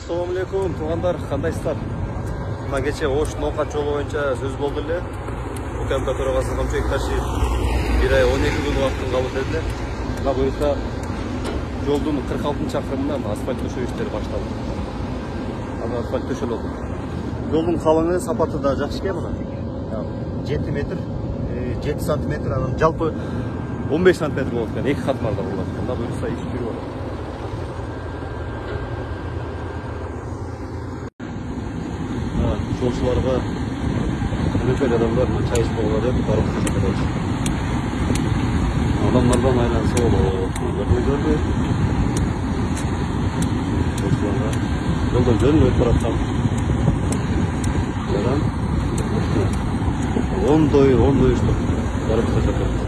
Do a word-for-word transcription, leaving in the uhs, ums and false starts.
Assalamu alaikum туугандар, кандайсыздар? Мына кече Ош Ноокат жолу боюнча сөз болду эле. УКМК төрагасы Камчы Экташев бир ай он эки күн убакытын калды деди. Мына буюрса жолдун кырк алтынчы чакырымынан асфальт төшөө иштери башталды. Аны асфальт төшөлдү. Жолдун калыңы, сапаты да жакшы экен мына. жети метр, жети сантиметр, анан жалпы он беш сантиметр болот экен, эки катмарда болот. Мына буюрса иш жүрүп атат. Жолчуларга өнөкөй адамдар чай ичпегиле деп барып көрсөтөт. Адамдардан айланса болот. Көрдүңүздөрбү? Жолчуларга жолдон жөн өтүп бараткан. Жаран. Ондой, ондой иштеп барып көрсөтөт.